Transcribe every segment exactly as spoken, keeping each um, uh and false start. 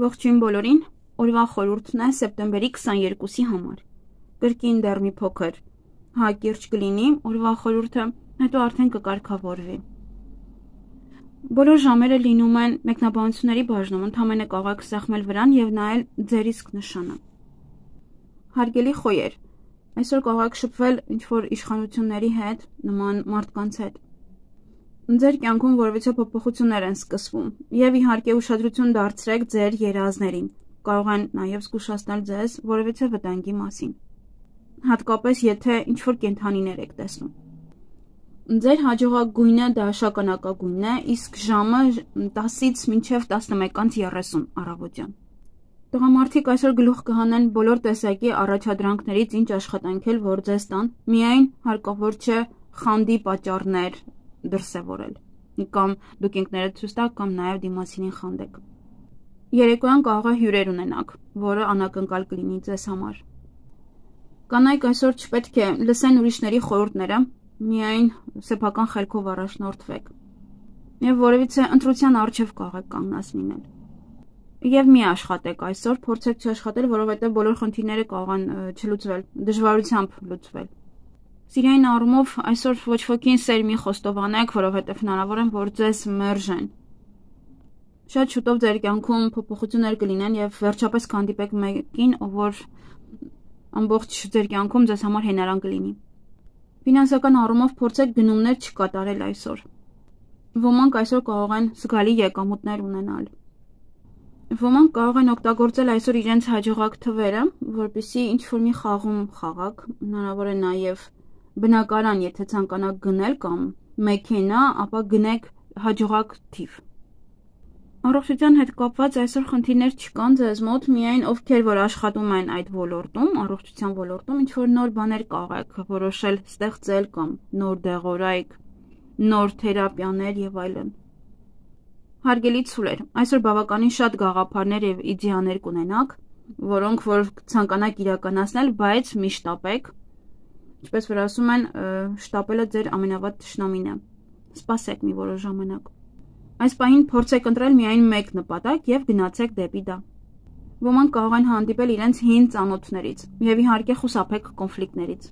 Ողջույն բոլորին, օրվա խորհուրդն է սեպտեմբերի քսաներկուսի համար։ Կրկին դեռ մի փոքր հակիրճ կլինի, օրվա խորհուրդը, հետո արդեն կկարգավորվի։ Բոլոր ժամերը լինում են մեկնաբանությունների բաժնում, ընդամենը կարող սեղմել վրան և նայել ձեր իսկ նշանը։ Հարգելի խոյեր, այսօր կարող շփվել ինչ-որ իշխանությունների հետ, նման մարդկանց հետ։ Ձեր կյանքում որևիցե փոփոխություններ են սկսվում, և իհարկե ուշադրություն դարձրեք ձեր երազներին, կարող են նաև զգուշացնել ձեզ որևիցե վտանգի մասին, հատկապես եթե ինչ-որ կենդանիներ եք տեսնում։ Ձեր հաջողակ գույնը դա շագանակագույնն է, իսկ ժամը տասից մինչև տասնմեկից երեսուն առավոտյան։ Տղամարդիկ այսօր գլուխ կհանեն բոլոր տեսակի առաջադրանքներից, ինչ աշխատանքել, որ ձեզ տան, միայն հարկավոր չէ խանդի պատճառներ դրսևորել, կամ դուք ինքներդ ցույց տաք, կամ նաև դիմացինին խանդեք։ Երեկոյան կարող է հյուրեր ունենաք, որը անակնկալ կլինի ձեզ համար։ Կանայք այսօր չպետք է լսեն ուրիշների խորհուրդները, միայն սեփական խելքով առաջնորդվեք, և որևիցե ընտրության առջև կարող կանգնած լինել։ Եվ մի աշխատեք այսօր, փորձեք չաշխատել, որովհետև բոլոր խնդիրները կարող են չլուծվել, դժվարությամբ լուծվել։ Սիրային առումով այսօր ոչ ոքին սեր մի խոստովանեք, որովհետև հնարավոր է, որ ձեզ մերժեն։ Շատ շուտով ձեր կյանքում փոփոխություններ կլինեն և վերջապես կհանդիպեք մեկին, ով որ ամբողջ ձեր կյանքում ձեզ համար հենարան կլինի։ Ֆինանսական առումով փորձեք գնումներ չկատարել այսօր։ Ոմանք այսօր կարող են զգալի եկամուտներ ունենալ։ Ոմանք կարող են օգտագործել այսօր իրենց հաջողակ թվերը, որպեսզի ինչ-որ մի խաղում խաղաք, հնարավոր է նաև բնակարան, եթե ցանկանաք գնել կամ մեքենա, ապա գնեք հաջողակ թիվ։ Առողջության հետ կապված այսօր խնդիրներ չկան ձեզ մոտ, միայն ովքեր որ աշխատում են այդ ոլորտում, առողջության ոլորտում, ինչ-որ նոր բաներ կարող եք որոշել ստեղծել կամ նոր դեղորայք, նոր թերապիաներ և այլն։ Հարգելի ցուլեր, այսօր բավականին շատ գաղափարներ և իդեաներ կունենաք, որոնք որ ցանկանաք իրականացնել, բայց մի շտապեք, ինչպես որ ասում են, շտապելը ձեր ամենավատ թշնամին է։ Սպասեք մի որոշ ժամանակ։ Այս պահին փորձեք ընտրել միայն մեկ նպատակ և գնացեք դեպի դա։ Ոմանք կարող են հանդիպել իրենց հին ծանոթներից և իհարկե խուսափեք կոնֆլիկտներից։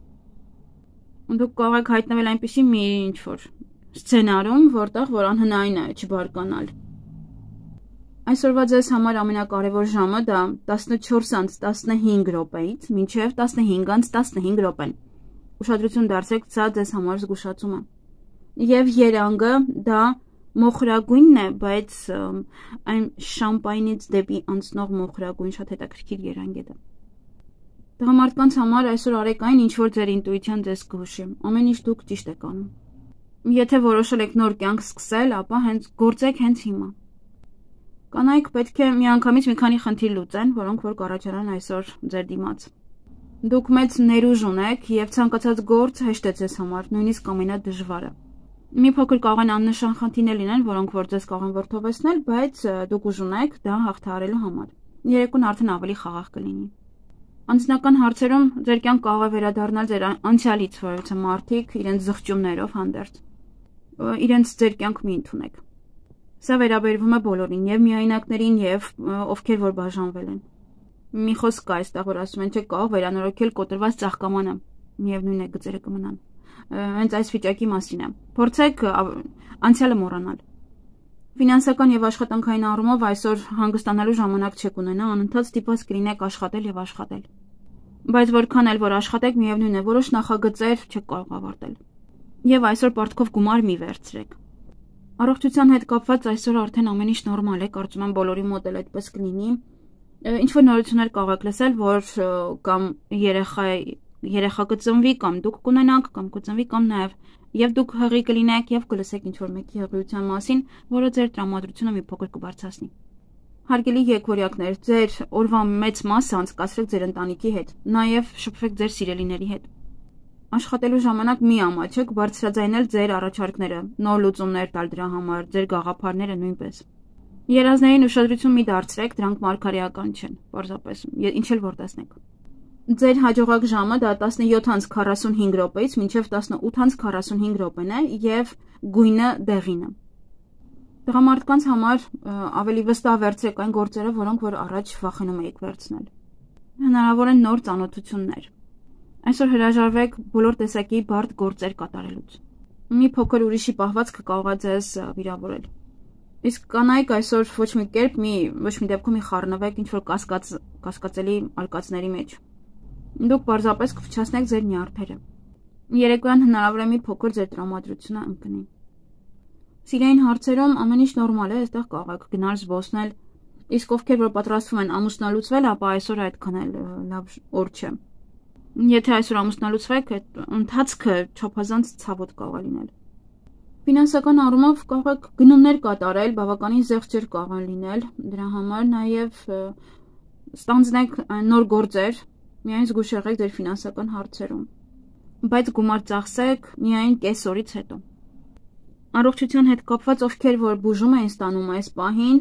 Դուք կարող եք հայտնվել այնպիսի մի ինչ-որ սցենարում, որտեղ որ անհնարին է չբարկանալ։ Այսօրվա ձեզ համար ամենակարևոր ժամը դա տասնչորսից տասնհինգ րոպեից մինչև տասնհինգից տասնհինգ րոպեն։ Ուշադրություն դարձրեք, սա ձեզ համար զգուշացում է։ Եվ երանգը դա մոխրագույնն է, բայց այն շամպայնից դեպի անցնող մոխրագույն, շատ հետաքրքիր երանգ է դա։ Տղամարդկանց համար այսօր արեք այն, ինչ որ ձեր ինտուիցիան ձեզ կհուշի, ամեն ինչ դուք ճիշտ եք անում։ Եթե որոշել եք նոր կյանք սկսել, ապա հենց գործեք հենց հիմա։ Կանայք պետք է միանգամից մի քանի խնդիր լուծեն, որոնք որ կառաջանան այսօր ձեր դիմաց։ Դուք մեծ ներուժ ունեք և ցանկացած գործ հեշտ է ձեզ համար, նույնիսկ ամենադժվարը։ Մի փոքր կարող են աննշան խնդիրներ լինեն, որոնք որ ձեզ կարող են վրդովեցնել, բայց դուք ուժ ունեք դա հաղթահարելու համար։ Երեկոն արդեն ավելի խաղաղ կլինի։ Անձնական հարցերում ձեր կյանք կարող է վերադառնալ ձեր անցյալից որևիցե մարդիկ իրենց զղջումներով հանդերձ։ Իրենց ձեր կյանք մի ընդունեք։ Սա վերաբերվում է բոլորին, և միայնակներին, և ովքեր որ բաժանվել են։ Մի խոսք կա այստեղ, որ ասում են, չէ կարող վերանորոգել կոտրված ծաղկամանը, միևնույն է գծերը կմնան։ Հենց այս վիճակի մասին է։ Փորձեք անցյալը մոռանալ։ Ֆինանսական և աշխատանքային առումով այսօր հանգստանալու ժամանակ չեք ունենա, անընդհատ ստիպված կլինեք աշխատել և աշխատել։ Բայց որքան էլ որ աշխատեք, միևնույն է, որոշ նախագծեր չեք կարող ավարտել։ Եվ այսօր պարտքով գումար մի վերցրեք։ Առողջության հետ կապված այսօր արդեն ամեն ինչ նորմալ է, կարծում եմ բոլորի մոտ էլ այդպես կլինի։ Ինչ-որ նորություններ կարող եք լսել, որ կամ երեխա երեխա կծնվի, կամ դուք կունենաք, կամ կծնվի, կամ նաև և դուք հղի կլինեք և կլսեք ինչ-որ մեկի հղիության մասին, որը ձեր տրամադրությունը մի փոքր կբարձրացնի։ Հարգելի եկորյակներ, ձեր օրվա մեծ մասը անցկացրեք ձեր ընտանիքի հետ, նաև շփվեք ձեր սիրելիների հետ։ Աշխատելու ժամանակ մի ամաչեք բարձրաձայնել ձեր առաջարկները, նոր լուծումներ տալ դրա համար, ձեր գաղափարները նույնպես։ Երազներին ուշադրություն մի դարձրեք, դրանք մարգարեական չեն, պարզապես, ինչ էլ որ տեսնեք։ Ձեր հաջողակ ժամը դա տասնյոթից քառասունհինգ րոպեից մինչև տասնութից քառասունհինգ րոպեն է և գույնը դեղինը։ Տղամարդկանց համար ավելի վստահ վերցրեք այն գործերը, որոնք որ առաջ վախենում եք վերցնել։ Հնարավոր են նոր ծանոթություններ։ Այսօր հրաժարվեք բոլոր տեսակի բարդ գործեր կատարելուց։ Մի փոքր ուրիշի պահվածքը կարող է ձեզ վիրավորել։ Իսկ կանայք այսօր ոչ մի կերպ մի ոչ մի դեպքում մի խառնվեք ինչ որ կասկած կասկածելի արկածների մեջ։ Դուք պարզապես կփչացնեք ձեր նյարդերը։ Երեկոյան հնարավոր է մի փոքր ձեր տրամադրությունը ընկնի։ Սիրային հարցերում ամեն ինչ նորմալ է, այստեղ կարող եք գնալ զբոսնել, իսկ ովքեր որ պատրաստվում են ամուսնալուծվել, ապա այսօր այդքան էլ լավ օր չէ։ Եթե այսօր ամուսնալուծվեք, այդ ընթացքը չափազանց ցավոտ կարող է լինել։ Ֆինանսական առումով կարող եք գնումներ կատարել, բավականին զեղչեր կարող են լինել, դրա համար նաև ստանձնեք նոր գործեր, միայն զգուշ եղեք ձեր ֆինանսական հարցերում, բայց գումար ծախսեք միայն կես օրից հետո։ Առողջության հետ կապված ովքեր որ բուժում են ստանում այս պահին,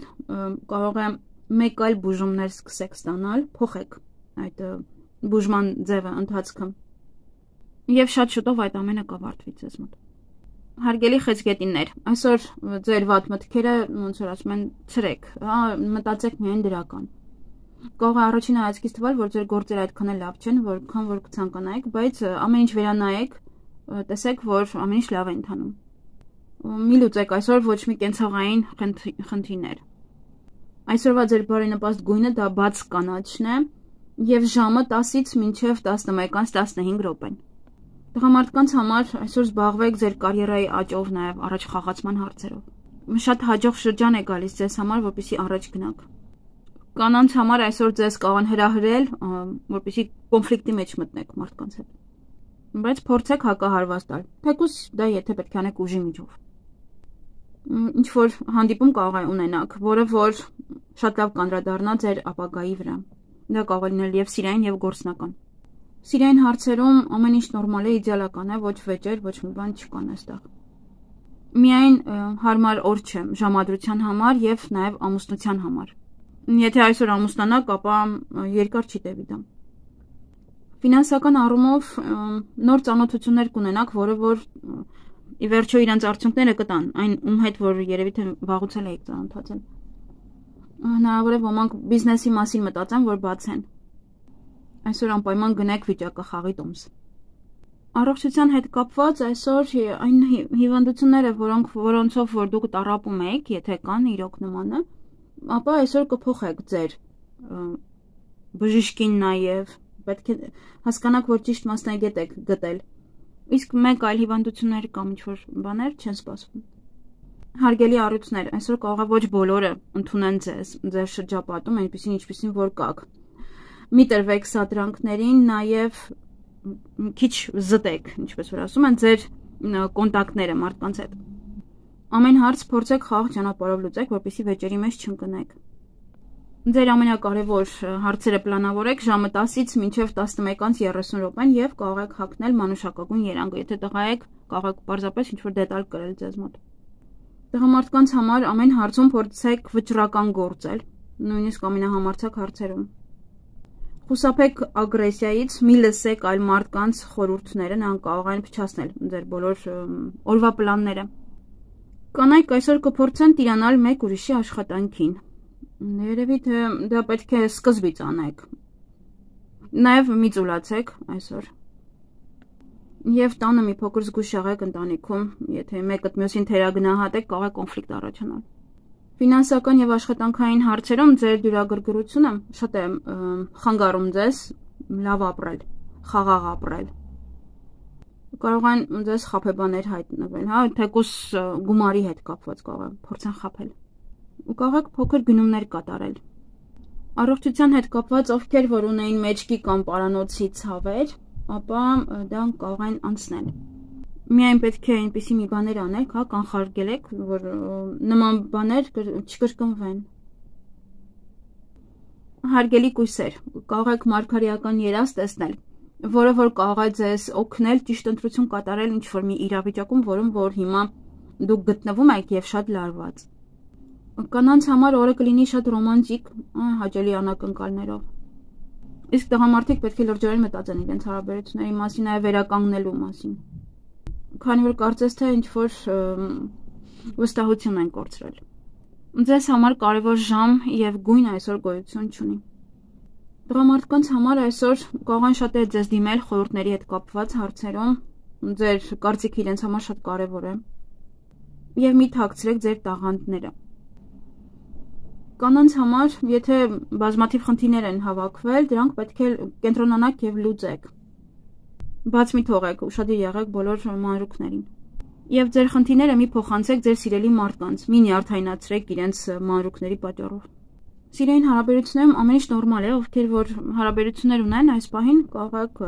կարող է մեկ այլ բուժումներ սկսեք ստանալ, փոխեք այդ բուժման ձևը ընթացքը։ Եվ շատ շուտով այդ ամենը կավարտվի ձեզ մոտ։ Հարգելի խեցգետիններ, այսօր ձեր վատ մտքերը ոնց որ ասում են ցրեք, հա, մտածեք միայն դրական։ Կարող է առաջին հայացքից թվալ, որ ձեր գործերը այդքան էլ լավ չեն, որքան որ կցանկանայիք, բայց ամեն ինչ վերանայեք, տեսեք, որ ամեն ինչ լավ է ընթանում։ Մի լուծեք այսօր ոչ մի կենցաղային խնդիրներ։ Այսօրվա ձեր բարենպաստ գույնը դա բաց կանաչն է եւ ժամը տասից մինչեւ տասնմեկից տասնհինգ րոպեն։ Տղամարդկանց համար այսօր զբաղվեք ձեր կարիերայի աճով, նաեւ առաջ խաղացման հարցերով։ Շատ հաջող շրջան է գալիս ձեզ համար, որպեսզի առաջ գնաք։ Կանանց համար այսօր ձեզ կարող են հրահրել, որպեսզի կոնֆլիկտի մեջ մտնեք մարդկանց հետ։ Բայց փորձեք հակահարված տալ։ Թեկուզ դա եթե պետք է անեք ուժի միջով։ Ինչ որ հանդիպում կարող է ունենաք, որը որ շատ լավ կանդրադառնա ձեր ապագայի վրա։ Դա կարող է լինել եւ սիրային եւ գործնական։ Սիրային հարցերում ամեն ինչ նորմալ է, իդեալական է, ոչ վեճեր, ոչ մի բան չկան այստեղ։ Միայն հարմար օր չէ ժամադրության համար եւ նաեւ ամուսնության համար։ Եթե այսօր ամուսնանաք, ապա երկար չի տևի դա։ Ֆինանսական առումով նոր ծանոթություններ կունենաք, որը որ ի վերջո իրանց արդյունքները կտան, այն ում հետ որ երևի թե վաղուց էլ եք ծանոթացել։ Հնարավոր է ոմանք բիզնեսի մասին մտածեն, որ բացեն։ Այսօր անպայման գնեք վիճակախաղի տոմս։ Առողջության հետ կապված այսօր այն հիվանդությունները, որոնք որոնցով որ դուք տառապում եք, եթե կան իրոք նմանը, ապա այսօր կփոխեք ձեր բժիշկին նաև, պետք է հասկանաք, որ ճիշտ մասնագետ եք գտել։ Իսկ մեկ այլ հիվանդություններ կամ ինչ-որ բաներ չեն սպասվում։ Հարգելի առյուծներ, այսօր կարող է ոչ բոլորը ընդունեն ձեզ, ձեր շրջապատում, այնպեսին ինչպեսին որ կաք։ Մի տրվեք սադրանքներին, նաև քիչ զտեք, ինչպես որ ասում են, ձեր կոնտակտները մարդկանց հետ։ Ամեն հարց փորձեք խաղաղ ճանապարհով լուծեք, որպեսզի վեճերի մեջ չընկնեք։ Ձեր ամենակարևոր հարցերը պլանավորեք ժամը տասից մինչև տասնմեկից երեսուն րոպեն եւ կարող եք հագնել մանուշակագույն երանգը, եթե տղա եք, կարող եք պարզապես ինչ-որ դետալ կրել ձեզ մոտ։ Տղամարդկանց համար ամեն հարցում փորձեք վճռական գործել, նույնիսկ ամենահամարձակ հարցերում։ Խուսափեք ագրեսիայից, մի լսեք այլ մարդկանց խորհուրդները, նրանք կարող են փչացնել ձեր բոլոր օրվա պլանները։ Կանայք այսօր կփորձեն տիրանալ մեկ ուրիշի աշխատանքին։ Երևի թե դա պետք է սկզբից անեք։ Նաև մի ծուլացեք այսօր։ Եվ տանը մի փոքր զգուշ եղեք ընտանիքում, եթե մեկը մյուսին թերագնահատեք, կարող է կոնֆլիկտ առաջանալ։ Ֆինանսական եւ աշխատանքային հարցերում ձեր դյուրագրգռությունը շատ է խանգարում ձեզ լավ ապրել, խաղաղ ապրել։ Կարող են ձեզ խաբեբաներ հայտնվել, հա, թեկուզ գումարի հետ կապված կարող են փորձեն խաբել։ Ու կարող եք փոքր գնումներ կատարել։ Առողջության հետ կապված ովքեր որ ունեին մեջքի կամ պարանոցի ցավեր, ապա դա կարող են անցնել։ Միայն պետք է այնպիսի մի բաներ անեք, հա, կանխարգելեք, որ նման բաներ չկրկնվեն։ Հարգելի կույսեր, կարող եք մարգարեական երազ տեսնել, որը որ կարող է ձեզ օգնել ճիշտ ընտրություն կատարել ինչ-որ մի իրավիճակում, որում որ հիմա դուք գտնվում եք եւ շատ լարված։ Կանանց համար օրը կլինի շատ ռոմանտիկ, հաճելի անակնկալներով։ Իսկ տղամարդիկ պետք է լրջորեն մտածեն իրենց հարաբերությունների մասին, այլ վերականգնելու մասին։ Քանի որ կարծես թե ինչ որ վստահություն են կորցրել։ Ձեզ համար կարևոր ժամ և գույն այսօր գոյություն չունի։ Տղամարդկանց համար այսօր կարող են շատերը ձեզ դիմել խորհուրդների հետ կապված հարցերում, ձեր կարծիքը իրենց համար շատ կարևոր է, և մի թաքցրեք ձեր տաղանդները։ Կանանց համար, եթե բազմաթիվ խնդիրներ են հավաքվել, դրանք պետք է կենտրոնանաք և լուծեք։ Բաց մի թողեք, ուշադիր եղեք բոլոր մանրուքներին։ Եվ ձեր խնդիրները մի փոխանցեք ձեր սիրելի մարդկանց, մի նյարդայնացրեք իրենց մանրուքների պատճառով։ Սիրային հարաբերություններում ամեն ինչ նորմալ է, ովքեր որ հարաբերություններ ունեն, այս պահին կարող եք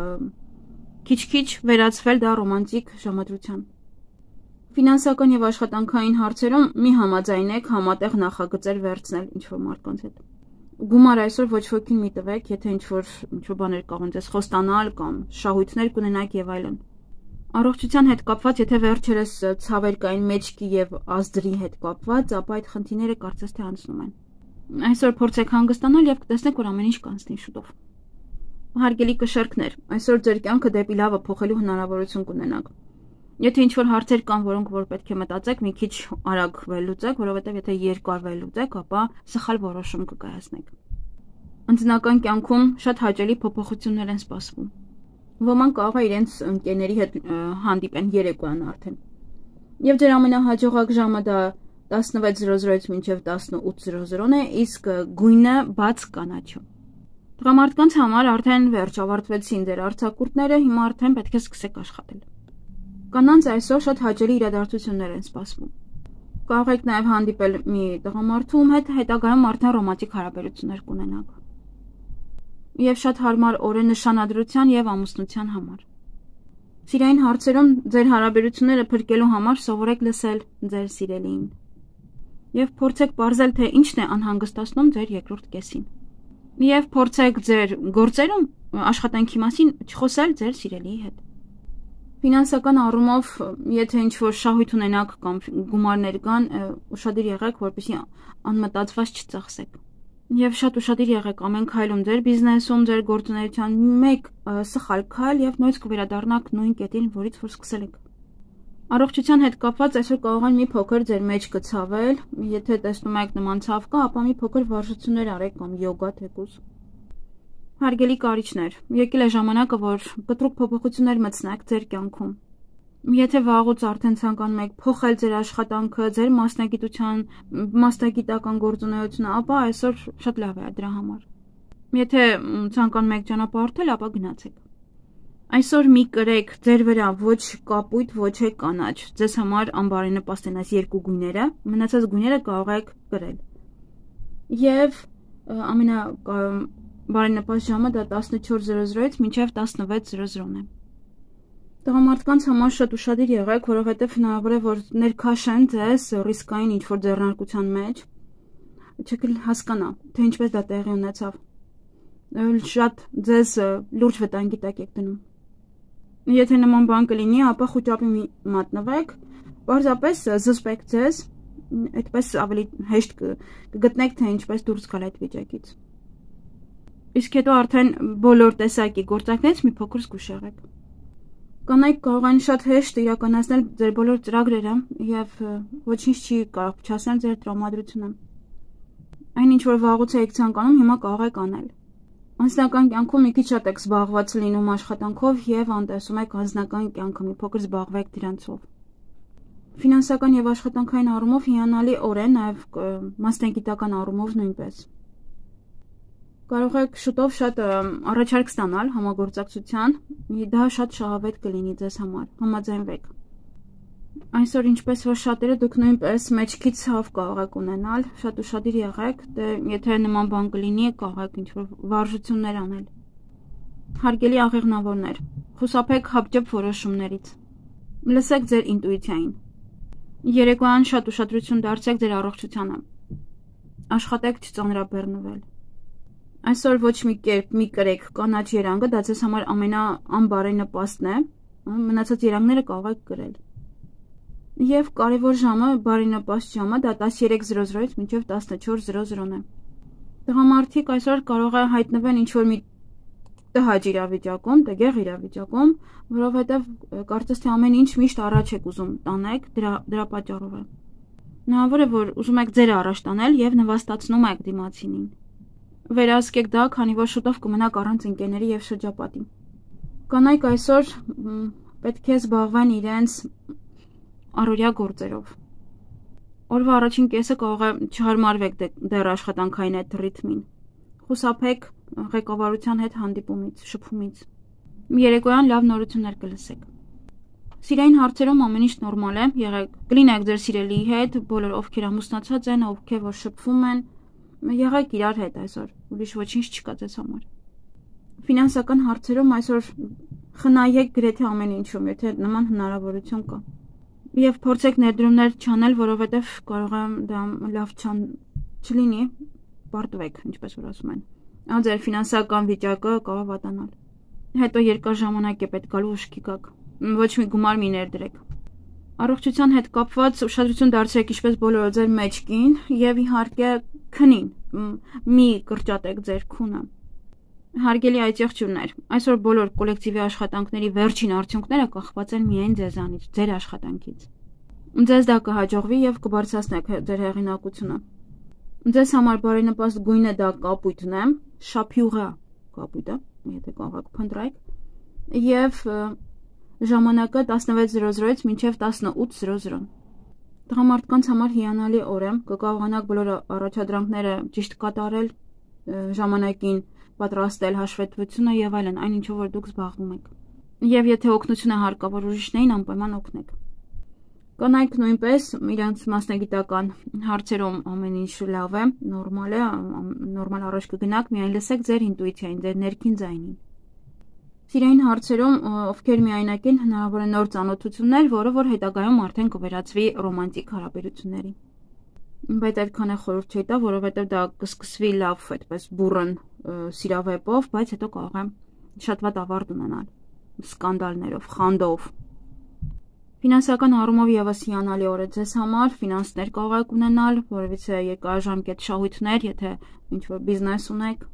քիչ-քիչ վերածվել դա ռոմանտիկ ժամադրության։ Ֆինանսական եւ աշխատանքային հարցերում մի համաձայնեք համատեղ նախագծեր վերցնել ինչ-որ մարդկանց հետ։ Գումար այսօր ոչ ոքին մի տվեք, եթե ինչ-որ ինչ-որ բաներ կարող են ձեզ խոստանալ կամ շահույթներ կունենաք եւ այլն։ Առողջության հետ կապված, եթե վերջերս ցավեր կային մեջքի եւ ազդրի հետ կապված, ապա այդ խնդիրները կարծես թե անցնում են։ Այսօր փորձեք հանգստանալ եւ կտեսնեք, որ ամեն ինչ կանցնի շուտով։ Հարգելի կշերկներ, այսօր ձեր կյանքը դեպի լավը փոխելու հնարավորություն կունենաք։ Եթե ինչ-որ հարցեր կան, որոնք որ պետք է մտածեք, մի քիչ արագ վերլուծեք, որովհետեւ եթե երկար վերլուծեք, ապա սխալ որոշում կկայացնեք։ Ընտանեկան կյանքում շատ հաճելի փոփոխություններ են սպասվում։ Ոմանք կարող է իրենց ընկերների հետ հանդիպեն երեկոյան արդեն։ Եվ ձեր ամենահաջողակ ժամը դա տասնվեց զրո զրոից մինչև տասնութ զրո զրոն է, իսկ գույնը բաց կանաչու։ Տղամարդկանց համար արդեն վերջ ավարտվեցին ձեր արձակուրդները, հիմա արդեն պետք է սկսեք աշխատել։ Կանանց այսօր շատ հաճելի իրադարձություններ են սպասվում։ Կարող եք նաև հանդիպել մի տղամարդու հետ, հետագայում արդեն ռոմանտիկ հարաբերություններ կունենաք։ Եվ շատ հարմար օր է նշանադրության եւ ամուսնության համար։ Սիրային հարցերում ձեր հարաբերությունները փրկելու համար սովորեք լսել ձեր սիրելիին։ Եվ փորձեք ողջել, թե ինչն է անհանգստացնում ձեր երկրորդ կեսին։ Եվ փորձեք ձեր գործերում աշխատանքի մասին չխոսել ձեր սիրելիի հետ։ Ֆինանսական առումով, եթե ինչ-որ շահույթ ունենաք կամ գումարներ կան, ուշադիր եղեք, որպեսզի անմտածված չծախսեք։ Եվ շատ ուշադիր եղեք ամեն քայլում ձեր բիզնեսում, ձեր գործունեության մեկ սխալ քայլ եւ նույնիսկ կվերադառնաք նույն կետին, որից որ սկսել եք։ Առողջության հետ կապված այսօր կարող են մի փոքր ձեր մեջ կցավել, եթե տեսնում եք նման ցավ կա, ապա մի փոքր վարժություններ արեք կամ յոգա թեկուզ։ Հարգելի կարիճներ, եկել է ժամանակը, որ կտրուկ փոփոխություններ մտցնեք ձեր կյանքում։ Եթե վաղուց արդեն ցանկանում եք փոխել ձեր աշխատանքը, ձեր մասնագիտության, մասնագիտական գործունեությունը, ապա այսօր շատ լավ է դրա համար։ Եթե ցանկանում եք ճանապարհորդել, ապա գնացեք։ Այսօր մի կրեք ձեր վրա ոչ կապույտ, ոչ է կանաչ։ Ձեզ համար անբարենպաստ են այս երկու գույները, մնացած գույները կարող եք կրել։ Եվ ամենա բարենպաստ ժամը դա տասնչորս զրո զրոից մինչև տասնվեց զրո զրոն է։ Տղամարդկանց համար շատ ուշադիր եղեք, որովհետև հնարավոր է, որ ներքաշեն ձեզ ռիսկային ինչ-որ ձեռնարկության մեջ, չեք հասկանա, թե ինչպես դա տեղի ունեցավ։ Շատ ձեզ լուրջ վտանգի տակ եք դնում։ Եթե նման բան կլինի, ապա խուճապի մատնվեք, պարզապես զսպեք ձեզ, այդպես ավելի հեշտ կգտնեք, թե ինչպես դուրս գալ այդ վիճակից։ Իսկ հետո արդեն բոլոր տեսակի գործակներից մի փոքր զգուշ եղեք։ Կանայք կարող են շատ հեշտ իրականացնել ձեր բոլոր ծրագրերը եւ ոչինչ չի կարող փչացնել ձեր տրամադրությունը։ Այն ինչ որ վաղուց եք ցանկանում, հիմա կարող եք անել։ Անձնական կյանքում մի քիչ շատ եք զբաղված լինում աշխատանքով եւ անտեսում եք անձնական կյանքը, մի փոքր զբաղվեք դրանցով։ Ֆինանսական եւ աշխատանքային առումով հիանալի օր է, նաեւ մասնագիտական առումով նույնպես։ Կարող եք շուտով շատ առաջարկ ստանալ համագործակցության, դա շատ շահավետ կլինի ձեզ համար, համաձայնվեք։ Այսօր ինչպես որ շատերը դուք նույնպես մեջքի ցավ կարող եք ունենալ, շատ ուշադիր եղեք, դե եթե նման բան կլինի, կարող եք ինչ-որ վարժություններ անել։ Հարգելի աղեղնավորներ, խուսափեք հապճեպ որոշումներից։ Լսեք ձեր ինտուիցիային։ Երեկոյան շատ ուշադրություն դարձրեք ձեր առողջությանը։ Աշխատեք չծանրաբեռնվել։ Այսօր ոչ մի կերպ մի կրեք կանաչ երանգը, դա ձեզ համար ամենաանբարենպաստն է, մնացած երանգները կարող եք կրել։ Եվ կարևոր ժամը, բարենպաստ ժամը, դա տասներեք զրո զրոից մինչև տասնչորս զրո զրոն է։ Տղամարդիկ այսօր կարող է հայտնվել ինչ-որ մի տհաճ իրավիճակում, տգեղ իրավիճակում, որովհետև կարծես թե ամեն ինչ միշտ առաջ եք ուզում տանեք, դրա դրա պատճառով է։ Հնարավոր է, որ ուզում եք ձերը առաջ տանել եւ նվաստացնում եք դիմացինին։ Վերահսկեք դա, քանի որ շուտով կմնաք առանց ընկերների եւ շրջապատի։ Կանայք այսօր պետք է զբաղվեն իրենց առօրյա գործերով։ Օրվա առաջին կեսը կարող է չհարմարվեք դեռ աշխատանքային այդ ռիթմին։ Խուսափեք ղեկավարության հետ հանդիպումից, շփումից։ Երեկոյան լավ նորություններ կլսեք։ Սիրային հարցերում ամեն ինչ նորմալ է, եղեք կլինեք ձեր սիրելիի հետ, բոլոր ովքեր ամուսնացած են, ովքեր որ շփվում են, եղեք իրար հետ այսօր, ուրիշ ոչինչ չկա ձեզ համար։ Ֆինանսական հարցերում այսօր խնայեք գրեթե ամեն ինչում, եթե նման հնարավորություն կա։ Եվ փորձեք ներդրումներ չանել, որովհետև կարող է դա լավ չլինի, պարտվեք, ինչպես որ ասում են։ Ձեր ֆինանսական վիճակը կարող է վատանալ։ Հետո երկար ժամանակ է պետք գալու ուշքի գաք։ Ոչ մի գումար մի ներդրեք։ Առողջության հետ կապված ուշադրություն դարձրեք ինչպես բոլորը ձեր մեջքին եւ իհարկե քնին, մի կրճատեք ձեր քունը։ Հարգելի այցեղջյուրներ, այսօր բոլոր կոլեկտիվի աշխատանքների վերջին արդյունքները կախված են միայն ձեզանից, ձեր աշխատանքից։ Ձեզ դա կհաջողվի եւ կբարձրացնեք ձեր հեղինակությունը։ Ձեզ համար բարենպաստ գույնը դա կապույտն է, շափյուղա կապույտը, եթե կարող եք փնտրեք, եւ ժամանակը տասնվեց զրո զրոից մինչև տասնութ զրո զրո։ Տղամարդկանց համար հիանալի օր է, կկարողանաք բոլոր առաջադրանքները ճիշտ կատարել, ժամանակին պատրաստել հաշվետվությունը եւ այլն, այն ինչով որ դուք զբաղվում եք։ Եվ եթե օգնություն է հարկավոր ուրիշներին, անպայման օգնեք։ Կանայք նույնպես իրենց մասնագիտական հարցերում ամեն ինչ լավ է, նորմալ է, նորմալ առաջ կգնաք, միայն լսեք ձեր ինտուիցիային, ձեր ներքին ձայնին։ Սիրային հարցերում, ովքեր միայնակ են, հնարավոր է նոր ծանոթություններ, որը որ հետագայում արդեն կվերածվի ռոմանտիկ հարաբերությունների։ Բայց այդքան է խորհուրդ չի տա, որովհետև դա կսկսվի լավ, այդպես բուռն սիրավեպով, բայց հետո կարող է շատ վատ ավարտ ունենալ, սկանդալներով, խանդով։ Ֆինանսական առումով եւս հիանալի օր է ձեզ համար, ֆինանսներ կարող եք ունենալ, որովհետեւ երկարաժամկետ շահույթներ, եթե ինչ-որ բիզնես ունեք,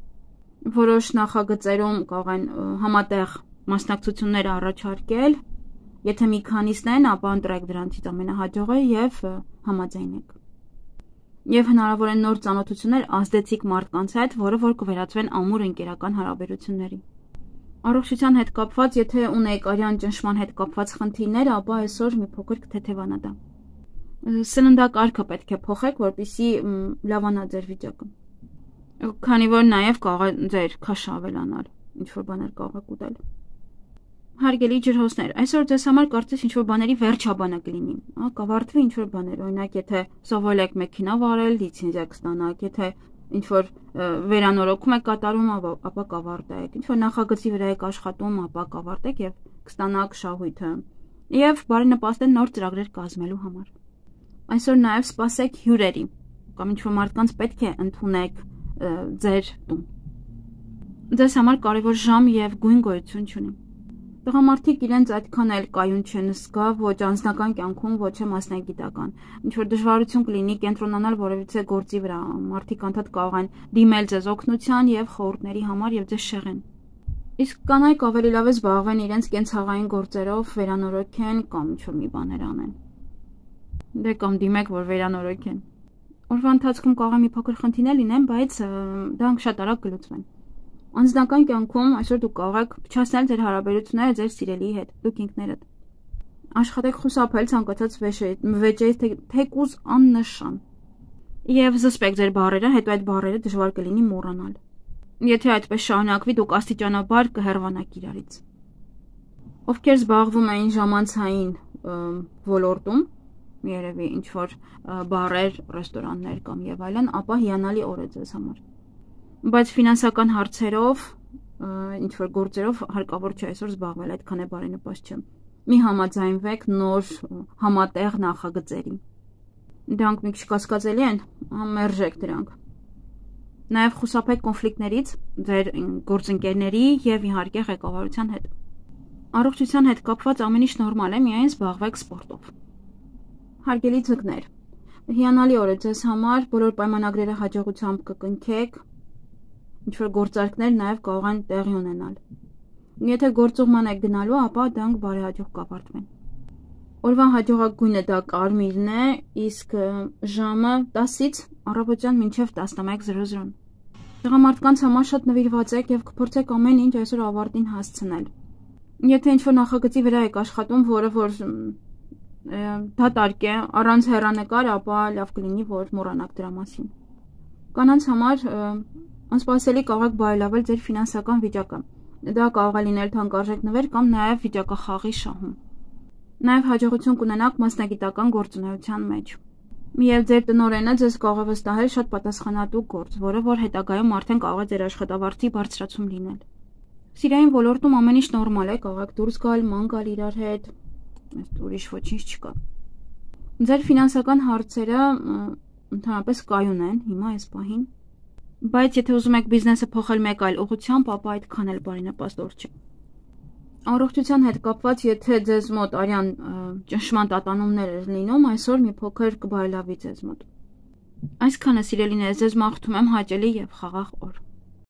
որոշ նախագծերում կարող են համատեղ մասնակցություններ առաջարկել, եթե մի քանիսն են, ապա ընտրեք դրանցից ամենահաջողը եւ համաձայնեք։ Եվ հնարավոր են նոր ծանոթություններ ազդեցիկ մարդկանց հետ, որը որ կվերածվեն ամուր ընկերական հարաբերությունների։ Առողջության հետ կապված, եթե ունեք արյան ճնշման հետ կապված խնդիրներ, ապա այսօր մի փոքր կթեթևանա դա։ Սննդակարգը պետք է փոխեք, որպեսզի լավանա ձեր վիճակը։ Քանի որ նաև կարող է ձեր քաշը ավելանալ, ինչ որ բաներ կարող եք ուտել։ Հարգելի ջրհոսներ, այսօր ձեզ համար կարծես ինչ որ բաների վերջաբանը կլինի, կավարտվի ինչ որ բաներ, օրինակ եթե սովորել եք մեքենա վարել, լիցենզիա կստանաք, եթե ինչ որ վերանորոգում եք կատարում, ապա կավարտեք, ինչ որ նախագծի վրա եք աշխատում, ապա կավարտեք եւ կստանաք շահույթը։ Եվ բարենպաստ են նոր ծրագրեր կազմելու համար։ Այսօր նաև սպասեք հյուրերի, կամ ինչ որ մարդկանց պետք է ընդունեք ձեր տուն։ Ձեզ համար կարևոր ժամ եւ գույն գոյություն չունի։ Տղամարդիկ իրենց այդքան էլ կայուն չեն զգա ոչ անձնական կյանքում, ոչ է մասնագիտական։ Ինչ որ դժվարություն կլինի կենտրոնանալ որևիցե գործի վրա, մարդիկ անդադ կարող են դիմել ձեզ օգնության եւ խորհուրդների համար եւ ձեզ շեղեն։ Իսկ կանայք ավելի լավ է զբաղվեն իրենց կենցաղային գործերով, վերանորոգեն կամ ինչ որ մի բաներ անեն։ Դե կամ դիմեք, որ վերանորոգեն։ Օրվա ընթացքում կարող է մի փոքր խնդիրներ լինեն, բայց դրանք շատ արագ կլուծվեն։ Անձնական կյանքում այսօր դուք կարող եք փչացնել ձեր հարաբերությունները ձեր սիրելիի հետ, դուք ինքներդ։ Աշխատեք խուսափել ցանկացած վեճերից թեկուզ աննշան։ Եվ զսպեք ձեր բառերը, հետո այդ բառերը դժվար կլինի մոռանալ։ Եթե այդպես շարունակվի, դուք աստիճանաբար կհեռվանաք իրարից։ Ովքեր զբաղվում էին ժամանցային ոլորտում, երևի ինչ որ բարեր, ռեստորաններ կամ եւ այլն, ապա հիանալի օր է ձեզ համար։ Բայց ֆինանսական հարցերով, ինչ որ գործերով հարկավոր չէ այսօր զբաղվել, այդքան է բարենպաստ չէ։ Մի համաձայնվեք նոր համատեղ նախագծերի։ Դրանք մի քիչ կասկածելի են, մերժեք դրանք։ Նաև խուսափեք կոնֆլիկտներից ձեր գործընկերների եւ իհարկե ղեկավարության հետ։ Առողջության հետ կապված ամեն ինչ նորմալ է, միայն զբաղվեք սպորտով։ Հարգելի ձկներ, հիանալի օր է ձեզ համար, բոլոր պայմանագրերը հաջողությամբ կկնքեք, ինչ որ գործարքներ նաև կարող են տեղի ունենալ։ Եթե գործուղման եք գնալու, ապա դրանք բարեհաջող կավարտվեն։ Օրվա հաջողակ գույնը դա կարմիրն է, իսկ ժամը տասից առավոտյան մինչև տասնմեկ զրո զրո։ Տղամարդկանց համար շատ նվիրված եք եւ կփորձեք ամեն ինչ այսօր ավարտին հասցնել։ Եթե ինչ-որ նախագծի վրա եք աշխատում, որը որ դատարկ է, առանց հեռանկար, ապա լավ կլինի, որ մոռանաք դրա մասին։ Կանանց համար անսպասելի կարող եք բարելավել ձեր ֆինանսական վիճակը։ Դա կարող է լինել թանկարժեք նվեր կամ նաև վիճակախաղի շահում։ Նաև հաջողություն կունենաք մասնագիտական գործունեության մեջ։ Միև ձեր տնօրենը ձեզ կարող է վստահել շատ պատասխանատու գործ, որը որ հետագայում արդեն կարող է ձեր աշխատավարձի բարձրացում լինել։ Սիրային ոլորտում ամեն ինչ նորմալ է, կարող եք դուրս գալ, ման գալ իրար հետ, ուրիշ ոչինչ չկա։ Ձեր ֆինանսական հարցերը ընդհանրապես կայուն են հիմա այս պահին, բայց եթե ուզում եք բիզնեսը փոխել մեկ այլ ուղղությամբ, ապա այդքան էլ բարենպաստ չէ։ Առողջության հետ կապված, եթե ձեզ մոտ արյան ճնշման տատանումներ էր լինում, այսօր մի փոքր կբարելավի ձեզ մոտ։ Այսքանը սիրելիներս, ձեզ մաղթում եմ հաճելի եւ խաղաղ օր։